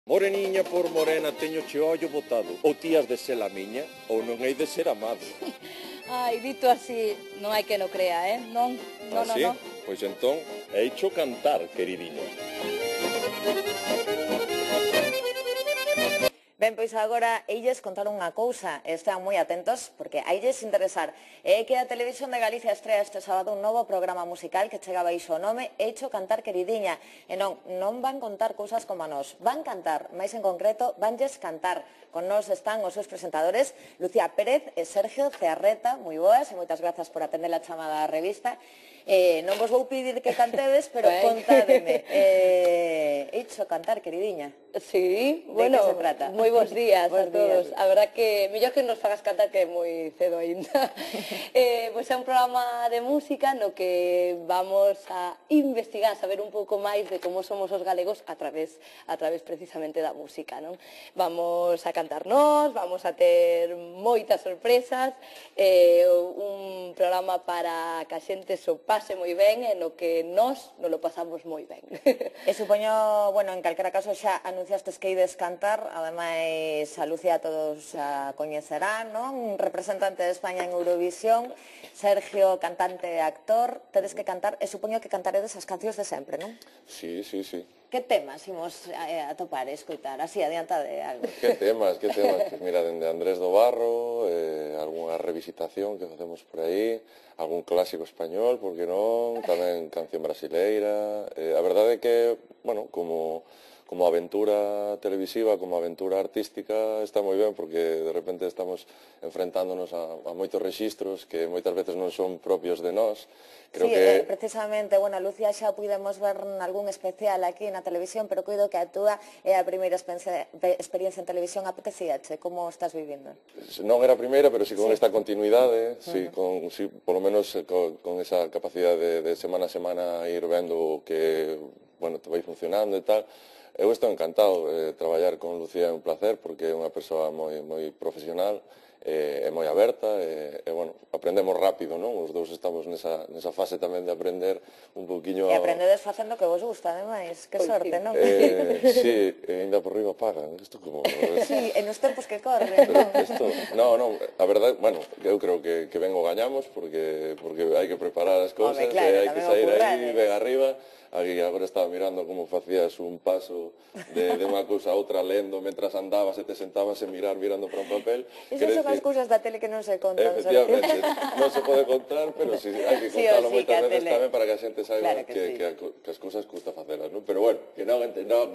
Moreniña por morena teño che ollo botado. Ou ti has de ser a miña, ou non hei de ser amado. Ai, dito así, non hai que no crea, Non, non, Así? non. Pois entón, heicho cantar, queridinha. Ben, pois agora eilles contar unha cousa, estean moi atentos porque ailles interesar. É que a Televisión de Galicia estrea este sábado un novo programa musical que chega baixo o nome Heicho cantar queridiña. E non van contar cousas como a nós, van cantar, máis en concreto, vanlles cantar. Con nós están os seus presentadores, Lucía Pérez e Sergio Cearreta, moi boas e moitas grazas por atender a chamada á revista. Non vos vou pedir que cantedes, pero contádeme. Heicho cantar queridiña. Sí, bueno, de que se trata? Moi bons días Bos a todos. días. A verdad que mellor que nos fagas cantar que é moi cedo aínda. Pois é un programa de música no que vamos a investigar, saber un pouco máis de como somos os galegos a través precisamente da música, non? Vamos a cantar nós, vamos a ter moitas sorpresas, un programa para que a xente so pase moi ben e no que nós nos lo pasamos moi ben. E supoño, bueno, en calquera caso xa anunciastes que ides cantar, ademais a Lucía todos a coñecerán, non? Un representante de España en Eurovisión, Sergio, cantante e actor, tedes que cantar, e supoño que cantaredes as cancións de sempre, non? Sí. Que temas imos a topar e escoitar? Así, adianta de algo. Que temas? Pues mira, dende Andrés do Barro, algunha revisitación que facemos por aí, algún clásico español, porque non, tamén canción brasileira. A verdade é que, bueno, como aventura televisiva, como aventura artística, está moi ben, porque de repente estamos enfrentándonos a moitos rexistros que moitas veces non son propios de nós. Creo que precisamente, bueno, Lucía xa pudemos ver algún especial aquí na televisión, pero coido que a túa é a primeira experiencia en televisión. Apetecíache? Como estás vivindo? Non era a primeira, pero sí con esta continuidade, polo menos con esa capacidade de semana a semana ir vendo que, bueno, te vai funcionando e tal. Eu estou encantado, traballar con Lucía é un placer porque é unha persoa moi profesional, é moi aberta e, bueno, aprendemos rápido, non? Os dous estamos nesa fase tamén de aprender un pouquiño... E aprendedes facendo que vos gusta, ademais, que sorte, non? Sí, ainda por riba pagan, isto como... Sí, en os tempos que corren, non? Non, a verdade, bueno, eu creo que ben o gañamos porque hai que preparar as cousas, e hai que sair aí, ben arriba. Aquí agora estaba mirando como facías un paso de unha cousa a outra lendo mentras andabas e te sentabas e mirar mirando para un papel. Esas son as cousas da tele que non se contan. Efectivamente, non se pode contar, pero hai que contalo moitas veces tamén para que a xente saiba que as cousas custa facelas, non? Pero bueno, que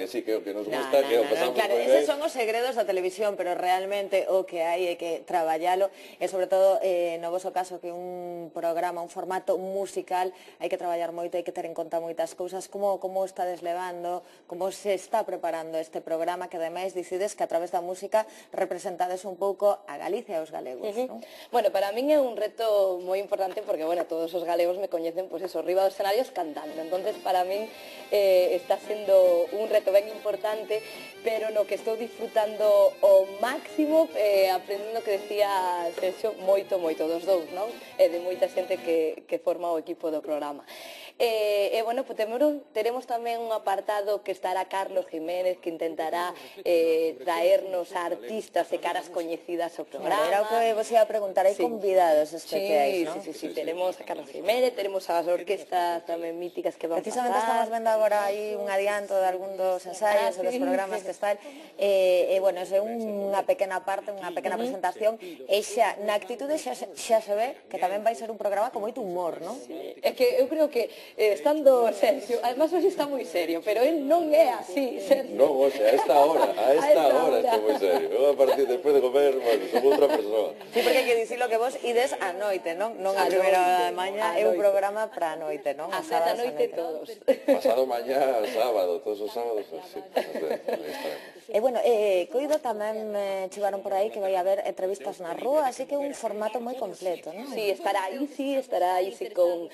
sí, que nos gusta, que o pasamos moi ben. Eses son os segredos da televisión, pero realmente o que hai é que traballalo, e sobre todo no voso caso que un programa, un formato musical, hai que traballar moito, hai que ter en conta moitas cousas. Como estades levando, como se está preparando este programa, que ademais decides que a través da música representades un pouco a Galicia e os galegos, non? Bueno, para min é un reto moi importante porque, bueno, todos os galegos me coñecen, pois eso, riba dos escenarios cantando. Entonces, para min está sendo un reto ben importante, pero no que estou disfrutando o máximo, aprendendo que decía Sergio, moito dos dous, non? E de moita xente que forma o equipo do programa. Bueno, pues teremos tamén un apartado que estará Carlos Jiménez, que intentará traernos a artistas e caras coñecidas ao programa. Era o que vos iba a preguntar, hai convidados especiais, non? Sí, teremos a Carlos Jiménez, teremos as orquestas tamén míticas que van a pasar. Precisamente estamos vendo agora aí un adianto de algún dos ensaios e dos programas que están, bueno, é unha pequena parte, unha pequena presentación, e xa, na actitude xa se ve que tamén vai ser un programa con moito humor, non? É que eu creo que estando Sergio, además hoxe está moi serio, pero él non é así, Sergio. Non, oxe, a esta hora está moi serio. Eu a partir, despois de comer, bueno, son outra persoa. Sí, porque hai que dicirlo que vos ides a noite, non? Non a primeira hora de mañá, é un programa para a noite, non? A sete a noite todos. Pasado mañá, sábado, todos os sábados, sí, E, bueno, coido tamén chegaron por aí que vai haber entrevistas na rúa, así que é un formato moi completo, non? Sí, estará Isi con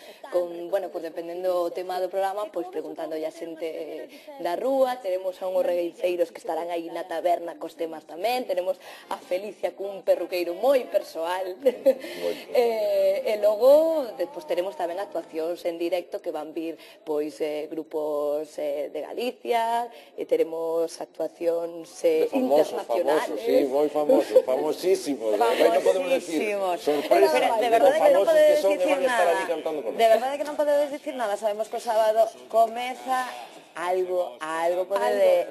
bueno, pues dependendo do tema do programa, pois preguntando a xente da rúa, teremos a unhos regueiceiros que estarán aí na taberna cos temas tamén, teremos a Felicia cun perruqueiro moi persoal, e logo, despois teremos tamén actuacións en directo que van vir, pois, grupos de Galicia, e teremos actuacións promocións De famosos, internacionales. sí, moi famosos, famosísimos. Non podemos decir sorpresa De de verdade que non famosos que podedes son que dicir van a estar nada. allí cantando con De verdade que non podedes dicir nada. Sabemos que o sábado comeza algo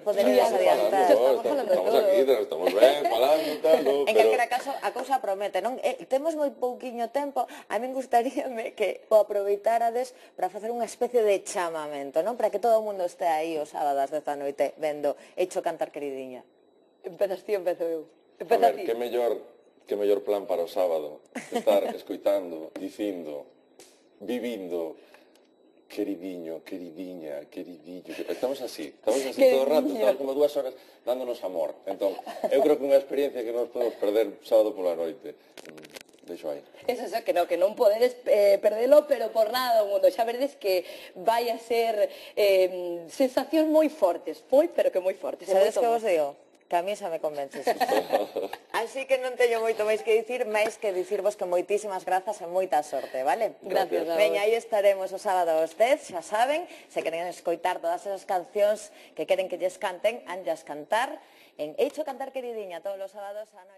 poderedes adiantar. Estamos aquí, estamos ben, falando, tal, En calquera caso, a cousa promete, non? Temos moi pouquiño tempo, a min gustaríame que o aproveitárades para facer unha especie de chamamento, non? Para que todo o mundo este aí os sábados desta noite vendo Hecho cantar queridiña. Empezas ti, empezo eu. A Empeza ver, ti. que mellor plan para o sábado estar escoitando, dicindo, vivindo, queridiño, queridiña, queridillo. Estamos así todo o rato, estamos como 2 horas dándonos amor. Entón, eu creo que unha experiencia que non podemos perder sábado pola noite. Deixo aí. Eso, que non podedes perdelo, pero por nada do mundo. Xa veredes que vai a ser sensacións moi fortes, pero que moi fortes. Sabedes que vos digo? Que a mí xa me convences. Así que non teño moito máis que dicir, máis que dicirvos que moitísimas grazas e moita sorte, vale? Gracias a vos. Veña, aí estaremos o sábado aos 10, xa saben, se queren escoitar todas esas cancións que queren que lles canten, anllas cantar en Hecho cantar queridiña todos os sábados á noite.